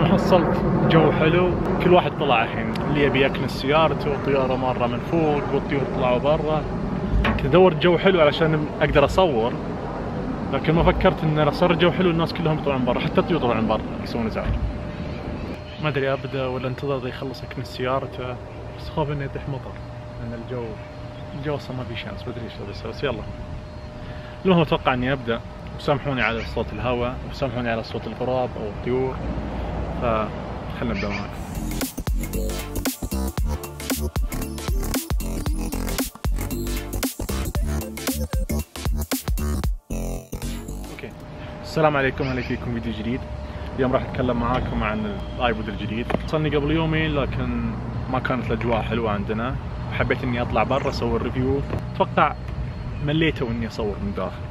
المهم حصلت جو حلو، كل واحد طلع الحين، اللي يبي يكنس سيارته والطيارة مرة من فوق والطيور طلعوا برا. كنت ادور جو حلو علشان اقدر اصور، لكن ما فكرت ان صار الجو حلو الناس كلهم يطلعون برا، حتى الطيور طلعوا برا يسوون ازعاج. ما ادري ابدا ولا انتظر ذا يخلص يكنس سيارته، بس خوف انه يطيح مطر لان الجو اصلا ما في شمس، ما ادري ايش بسوي، بس يلا. المهم اتوقع اني ابدا، وسامحوني على صوت الهواء وسامحوني على صوت الغراب او الطيور، فخلنا نبدا معاكم. اوكي، السلام عليكم، اهلا فيكم فيديو جديد. اليوم راح اتكلم معاكم عن الايبود الجديد. وصلني قبل يومين لكن ما كانت الاجواء حلوه عندنا، حبيت اني اطلع برا اسوي الريفيو. اتوقع مليت واني اصور من داخل.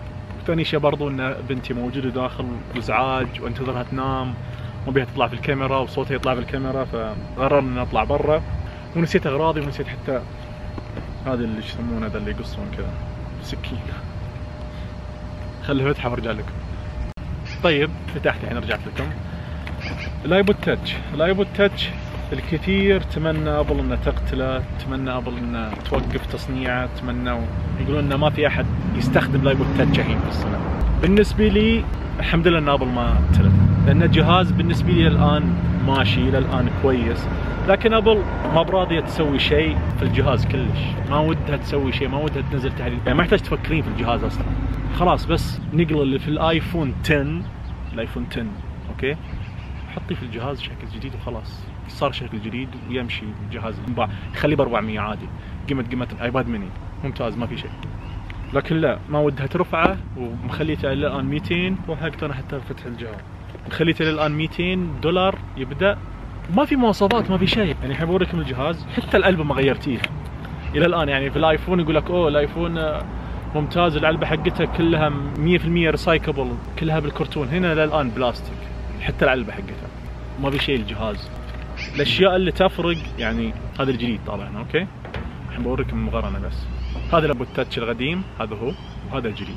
ثاني شيء برضو ان بنتي موجوده داخل وازعاج وانتظرها تنام، ما بيها تطلع في الكاميرا وصوتها يطلع في الكاميرا، فقررنا ان نطلع برا. ونسيت اغراضي ونسيت حتى هذا اللي يسمونه هذا اللي يقصون كذا سكين. خليه فتحه وارجع لكم. طيب فتحت الحين رجعت لكم. الايبود تاتش الكثير تمنى ابل انه تقتله، تمنى ابل انه توقف تصنيعه، تمنى يقولون انه ما في احد يستخدم الايبود تاتش الحين في السنه. بالنسبه لي الحمد لله ان ابل ما قتلته، لان الجهاز بالنسبه لي الان ماشي الى الان كويس، لكن ابل ما براضيه تسوي شيء في الجهاز كلش، ما ودها تسوي شيء، ما ودها تنزل تحديث، يعني ما يحتاج تفكرين في الجهاز اصلا. خلاص بس نقل اللي في الايفون 10، الايفون 10 اوكي، حطي في الجهاز شكل جديد وخلاص، صار شكل جديد ويمشي الجهاز، خليه ب 400 عادي، قيمة الايباد ميني ممتاز ما في شيء. لكن لا، ما ودها ترفعه ومخليته الى الان 200، وحقت انا حتى فتح الجهاز مخليته الى الان 200 دولار يبدا، ما في مواصفات ما في شيء. يعني الحين بوريكم الجهاز، حتى العلبه ما غيرتيه الى الان. يعني في الايفون يقول لك اوه الايفون ممتاز، العلبه حقتها كلها 100% ريسايكبل، كلها بالكرتون. هنا للان بلاستيك، حتى العلبه حقتها ما في شيء. الجهاز الاشياء اللي تفرق يعني هذا الجديد طبعا اوكي. الحين بوريكم المقارنه بس. هذا الايبود تاتش القديم هذا هو، وهذا الجديد.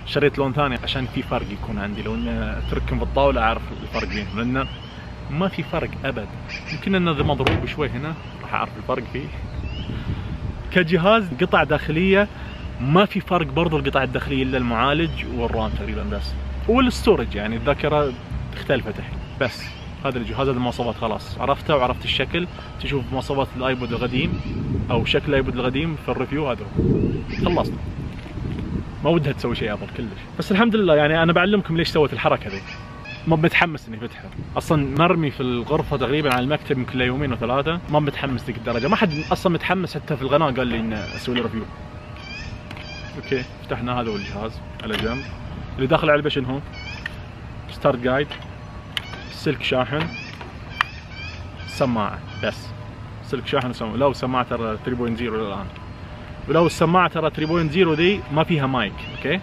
شريت لون ثاني عشان في فرق يكون عندي، لو اني اتركهم في الطاوله اعرف الفرق بينهم، لانه ما في فرق ابد. يمكن انه مضروب شوي هنا راح اعرف الفرق فيه. كجهاز قطع داخليه ما في فرق برضو، القطع الداخليه الا المعالج والرام تقريبا بس، والستورج يعني الذاكره اختلفت الحين. بس هذا الجهاز، هذه المواصفات خلاص عرفتها وعرفت الشكل. تشوف مواصفات الايبود القديم او شكل الايبود القديم في الريفيو، هذا خلصنا. ما ودها تسوي شيء ابل كلش، بس الحمد لله. يعني انا بعلمكم ليش سويت الحركه ذي. ما متحمس اني فتحه اصلا، مرمي في الغرفه تقريبا على المكتب يمكن يومين وثلاثه، ما متحمس ذيك الدرجه. ما حد اصلا متحمس حتى في القناه قال لي اني اسوي له ريفيو. اوكي فتحنا، هذا هو الجهاز على جنب. اللي داخل العلبه شنو هو؟ ستارت جايد، سلك شاحن، سماعه، بس سلك شاحن وسماعه. لو سماعه ترى 3.0 الان، ولو السماعه ترى 3.0 دي ما فيها مايك اوكي.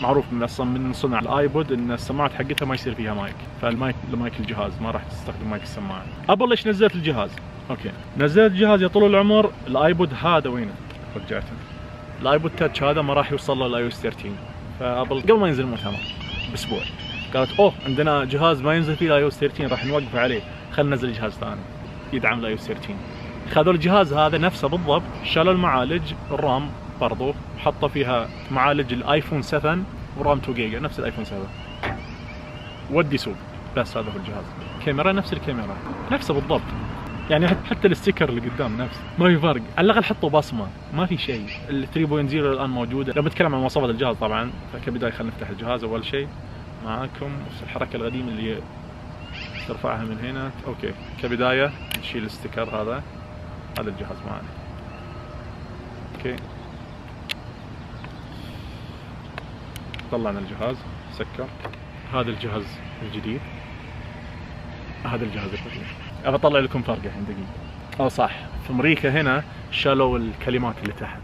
معروف من اصلا من صنع الايبود ان السماعات حقتها ما يصير فيها مايك، فالمايك لمايك الجهاز، ما راح تستخدم مايك السماعه. ابل ليش نزلت الجهاز؟ اوكي نزلت الجهاز يا طول العمر. الايبود هذا وينه؟ رجعته. الايبود تاتش هذا ما راح يوصل له الاي او اس 13، فابل قبل ما ينزل المؤتمر باسبوع قالت اوه عندنا جهاز ما ينزل فيه الاي او اس 13 راح نوقف عليه، خلينا ننزل جهاز ثاني يدعم الاي او اس 13. خذوا الجهاز هذا نفسه بالضبط، شالوا المعالج، الرام برضو حطوا فيها معالج الايفون 7 ورام 2 جيجا نفس الايفون 7، ودي سوق. بس هذا هو الجهاز. كاميرا نفس الكاميرا نفسه بالضبط، يعني حتى الستيكر اللي قدام نفس، ما في فرق. على الاقل حطوا بصمه، ما في شيء. ال 3.0 الان موجوده. لو بتكلم عن مواصفات الجهاز طبعا، فكبدايه خلينا نفتح الجهاز اول شيء معاكم. الحركه القديمه اللي ترفعها من هنا اوكي. كبدايه نشيل الستيكر هذا الجهاز معنا اوكي. طلعنا الجهاز، سكر. هذا الجهاز الجديد، هذا الجهاز القديم. ابى اطلع لكم فرق الحين دقيقه. صح، في امريكا هنا شالوا الكلمات اللي تحت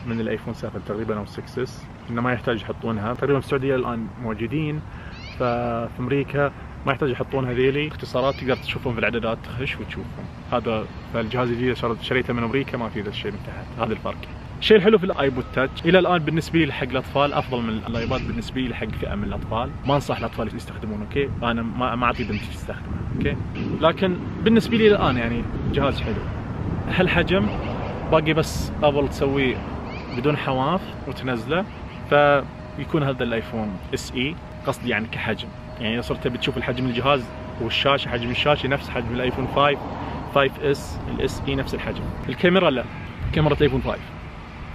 من الايفون 7 تقريبا او 6 اس، انه ما يحتاج يحطونها. تقريبا في السعوديه الان موجودين، ففي امريكا ما يحتاج يحطون هذيلي اختصارات، تقدر تشوفهم في الاعدادات، تخش وتشوفهم. هذا فالجهاز الجديد شريته من امريكا ما في ذا الشيء من تحت، هذا الفرق. الشيء الحلو في الايبود تاتش الى الان بالنسبه لي حق الاطفال افضل من الايباد بالنسبه لي حق فئه من الاطفال، ما انصح الاطفال يستخدمونه اوكي، انا ما اعطي بنتي تستخدمه اوكي، لكن بالنسبه لي الان يعني جهاز حلو. هالحجم باقي بس ابل تسويه بدون حواف وتنزله، فيكون هذا الايفون اس اي قصدي يعني كحجم، يعني اذا صرت بتشوف الحجم الجهاز والشاشه حجم الشاشه نفس حجم الايفون 5 اس، الاس اي نفس الحجم. الكاميرا لا، كاميرا الايفون 5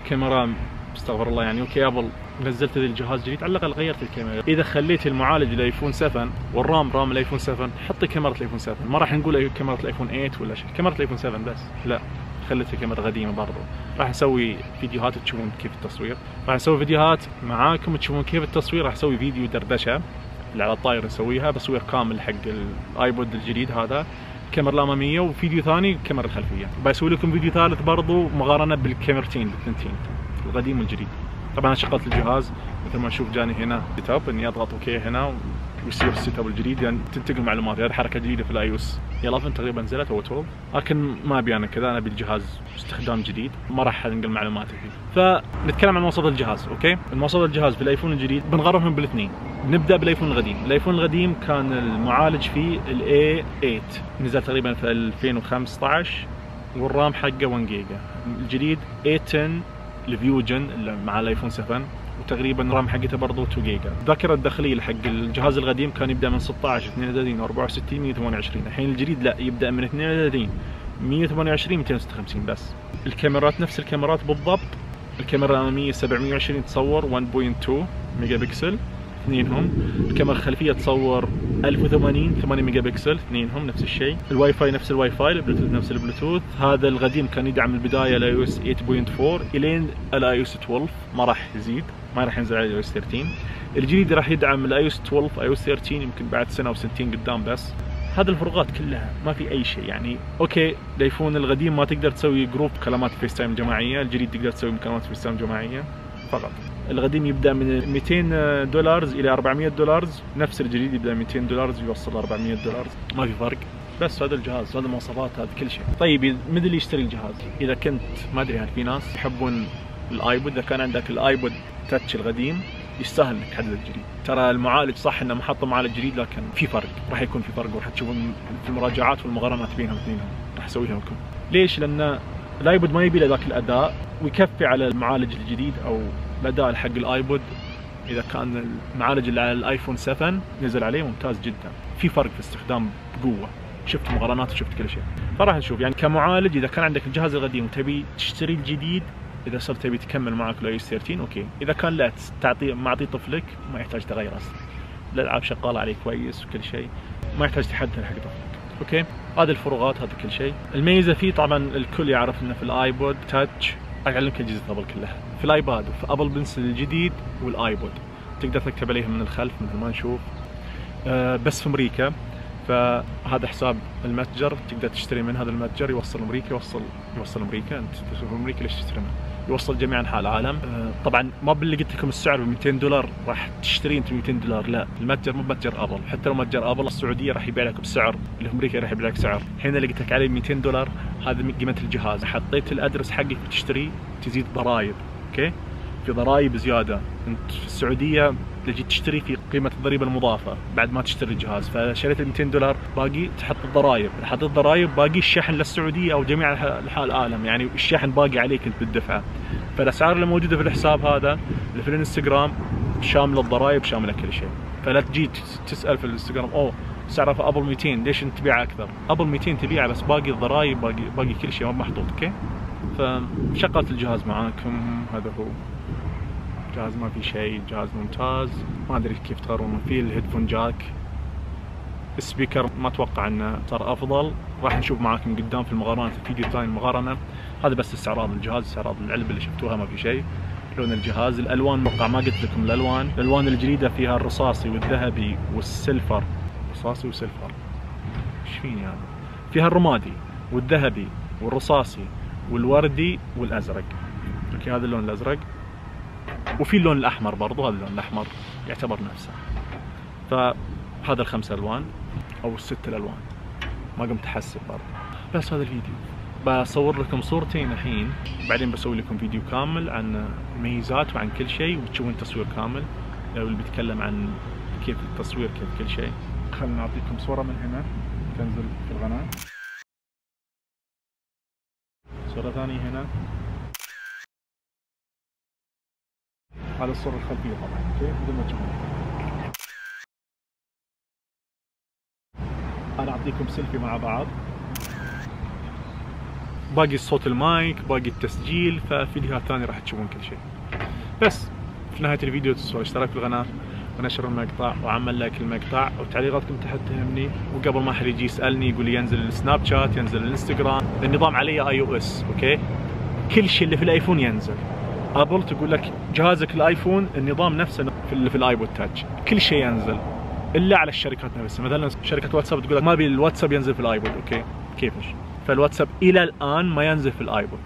كاميرا استغفر الله يعني اوكي ابل نزلت ذي الجهاز جديد على الاقل غيرت الكاميرا. اذا خليت المعالج الايفون 7 والرام رام الايفون 7 حطي كاميرا الايفون 7، ما راح نقول كاميرا الايفون 8 ولا شيء، كاميرا الايفون 7 بس، لا خليتها كاميرا قديمه برضو. راح اسوي فيديوهات تشوفون كيف التصوير، راح اسوي فيديوهات معاكم تشوفون كيف التصوير، راح اسوي فيديو دردشه اللي على الطاير نسويها بصوير كامل حق الايبود الجديد هذا، الكاميرا الاماميه وفيديو ثاني الكاميرا الخلفيه. بسوي لكم فيديو ثالث برضو مقارنه بالكاميرتين بالثنتين القديم والجديد. طبعا انا شغلت الجهاز مثل ما نشوف جاني هنا سيت اب اني اضغط اوكي هنا ويصير السيت اب الجديد يعني تنتقل معلومات. هذه حركه جديده في الاي او اس 11 تقريبا نزلت او 12، لكن ما ابي انا كذا، انا ابي الجهاز استخدام جديد ما راح انقل معلوماتي فيه. فنتكلم عن مواصفات الجهاز اوكي. المواصفات الجهاز في الايفون الجديد بنقررهم بالاثنين. نبدا بالايفون القديم. الايفون القديم كان المعالج فيه الاي 8 نزل تقريبا في 2015 والرام حقه 1 جيجا. الجديد A10 الفيوجن اللي مع الايفون 7 وتقريبا الرام حقته برضه 2 جيجا. الذاكره الداخليه حق الجهاز القديم كان يبدا من 16 32 64 128. الحين الجديد لا يبدا من 32 128 256 بس. الكاميرات نفس الكاميرات بالضبط. الكاميرا الاماميه 720 تصور 1.2 ميجا بكسل اثنينهم. الكاميرا الخلفيه تصور 1080 8 ميجا بكسل اثنينهم نفس الشيء. الواي فاي نفس الواي فاي، البلوتوث نفس البلوتوث. هذا القديم كان يدعم البدايه الاي او اس 8.4 الين الاي او اس 12، ما راح يزيد، ما راح ينزل على الاي او اس 13. الجديد راح يدعم الاي او اس 12 اي او اس 13 يمكن بعد سنه وسنتين قدام بس. هذه الفروقات كلها ما في اي شيء يعني اوكي. الايفون القديم ما تقدر تسوي جروب كلمات فيس تايم جماعيه، الجديد تقدر تسوي مكالمات فيس تايم جماعيه فقط. القديم يبدا من $200 الى $400، نفس الجديد يبدا من $200 يوصل $400، ما في فرق. بس هذا الجهاز، هذه المواصفات، هذا كل شيء. طيب من اللي يشتري الجهاز؟ اذا كنت ما ادري هل في ناس يحبون الايبود، اذا كان عندك الايبود تاتش القديم يستاهل انك تحدد الجديد. ترى المعالج صح انه محط معالج جديد لكن في فرق، راح يكون في فرق وراح تشوفون في المراجعات والمقارنات بينهم اثنينهم، راح اسويها لكم. ليش؟ لان الايبود ما يبي له ذاك الاداء ويكفي على المعالج الجديد او الاداء حق الايبود. اذا كان المعالج اللي على الايفون 7 نزل عليه ممتاز جدا، في فرق في استخدام بقوه، شفت مقارنات وشفت كل شيء. فراح نشوف يعني كمعالج اذا كان عندك الجهاز القديم وتبي تشتري الجديد، اذا صرت تبي تكمل معك الاي اس 13 اوكي. اذا كان لا تعطيه معطي طفلك ما يحتاج تغير اصلا، الالعاب شغاله عليه كويس وكل شيء، ما يحتاج تحدث حق طفلك اوكي. هذه الفروقات، هذا كل شيء. الميزه فيه طبعا الكل يعرف انه في الايبود تاتش، اعلمك اجهزه ابل كلها في الايباد وفي ابل بنسل الجديد والايبود تقدر تكتب عليهم من الخلف مثل ما نشوف. بس في امريكا، فهذا حساب المتجر تقدر تشتري من هذا المتجر، يوصل امريكا، يوصل امريكا. انت في امريكا ليش تشتري منه؟ يوصل جميع انحاء العالم. طبعا ما باللي قلت لكم السعر ب $200 راح تشتري انت $200، لا المتجر مو متجر ابل. حتى لو متجر ابل السعوديه راح يبيع لك بسعر، اللي في امريكا راح يبيع لك سعر. الحين اللي قلت لك عليه $200 هذا قيمه الجهاز. حطيت الادرس حقك وتشتري تزيد ضرائب اوكي، في ضرائب زياده. انت في السعوديه تجي تشتري في قيمه الضريبه المضافه بعد ما تشتري الجهاز، فشريت $200 باقي تحط الضرائب، حطيت الضرائب باقي الشحن للسعوديه او جميع انحاء العالم، يعني الشحن باقي عليك انت بالدفعه. فالاسعار اللي موجوده في الحساب هذا اللي في الانستغرام شامله الضرائب شامله كل شيء. فلا تجي تسال في الانستغرام اوه سعره في ابل 200 ليش انت تبيعه اكثر؟ ابل 200 تبيعه بس باقي الضرائب باقي كل شيء محطوط اوكي. فشغلت الجهاز معاكم، هذا هو جهاز ما في شيء، جهاز ممتاز. ما ادري كيف تقارنون فيه. الهيدفون جاك، السبيكر ما اتوقع انه صار افضل، راح نشوف معاكم قدام في المقارنات الفيديو الثاني المقارنه. هذا بس استعراض الجهاز، استعراض العلبه اللي شفتوها ما في شيء. لون الجهاز، الالوان اتوقع ما قلت لكم الالوان الجديده فيها الرصاصي والذهبي والسيلفر، رصاصي وسيلفر ايش فيني هذا؟ فيها الرمادي والذهبي والرصاصي والوردي والازرق اوكي. هذا اللون الازرق، وفي اللون الاحمر برضو، هذا اللون الاحمر يعتبر نفسه. فهذا ال5 الوان او ال6 الالوان، ما قمت احسب برضو. بس هذا الفيديو بصور لكم صورتين الحين، بعدين بسوي لكم فيديو كامل عن الميزات وعن كل شيء، وتشوفون تصوير كامل اللي بيتكلم عن كيف التصوير كيف كل شيء. خلنا نعطيكم صورة من هنا تنزل في القناة، صورة ثانية هنا، هذا الصورة الخلفية طبعا اوكي بدون ما تشوفون. انا اعطيكم سيلفي مع بعض، باقي الصوت المايك، باقي التسجيل، ففي فيديوهات ثانية راح تشوفون كل شيء. بس في نهاية الفيديو تنسوا الاشتراك في القناة ونشر المقطع وعمل لايك للمقطع، وتعليقاتكم تحت تهمني. وقبل ما احد يجي يسالني يقول لي ينزل السناب شات ينزل الانستغرام، النظام علي iOS اوكي، كل شيء اللي في الايفون ينزل. ابل تقول لك جهازك الايفون النظام نفسه في الايبود تاتش، كل شيء ينزل الا على الشركات نفسها. مثلا شركه واتساب تقول لك ما ابي الواتساب ينزل في الايبود اوكي، كيفش؟ فالواتساب الى الان ما ينزل في الايبود،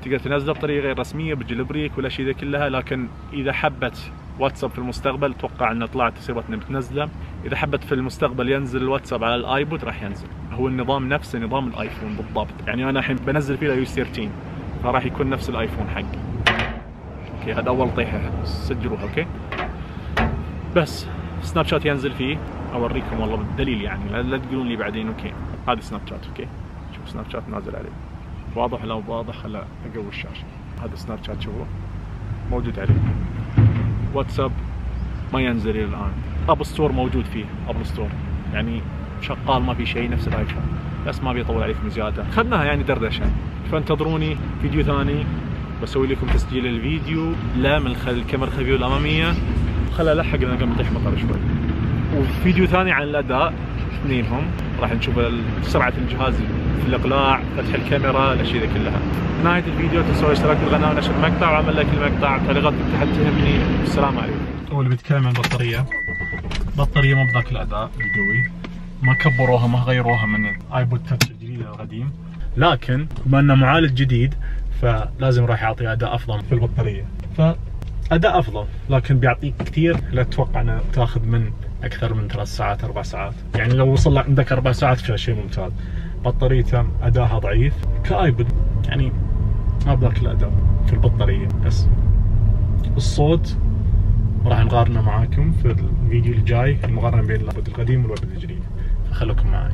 تقدر تنزله بطريقه غير رسميه بالجيل بريك ولا شيء ذا كلها. لكن اذا حبت واتساب في المستقبل، اتوقع انه طلعت تسيبها انها بتنزله، اذا حبت في المستقبل ينزل الواتساب على الايبود راح ينزل. هو النظام نفسه نظام الايفون بالضبط، يعني انا الحين بنزل فيه iOS 13 فراح يكون نفس الايفون حقي اوكي. هذا اول طيحه سجلوها اوكي. بس سناب شات ينزل فيه، اوريكم والله بالدليل يعني، لا تقولون لي بعدين اوكي. هذا سناب شات اوكي، شوف سناب شات نازل عليه، واضح لو واضح. هلا اقوي الشاشه، هذا سناب شات شوفوه موجود عليه. واتساب ما ينزل الى الان. ابل ستور موجود فيه، ابل ستور يعني شغال ما في شيء نفس الايفون، بس ما بيطول عليكم زياده، خذناها يعني دردشه. فانتظروني فيديو ثاني بسوي لكم تسجيل الفيديو لا من الكاميرا الخلفيه والاماميه، خلها لحق لنا قبل يطيح مطر شوي. وفيديو ثاني عن الاداء اثنينهم، راح نشوف سرعه الجهاز في الاقلاع، فتح الكاميرا، الاشياء ذي كلها. في نهايه الفيديو تنسوا الاشتراك في القناه ونشر المقطع وعمل لايك للمقطع، تعليقاتكم تحت تهمني. السلام عليكم. اول بيتكلم عن البطاريه، البطاريه مو بذاك الاداء القوي، ما كبروها ما غيروها من الايبود تاتش الجديد القديم، لكن بما انه معالج جديد فلازم راح يعطي اداء افضل في البطاريه، فاداء افضل لكن بيعطيك كثير. لا تتوقع انه تاخذ من اكثر من 3 ساعات 4 ساعات، يعني لو وصل عندك 4 ساعات فشيء ممتاز. بطاريته اداها ضعيف كايبود، يعني ما بذاك الاداء في البطاريه. بس الصوت راح نقارنه معاكم في الفيديو الجاي، المقارنه بين الايبود القديم والايبود الجديد، فخلوكم معي.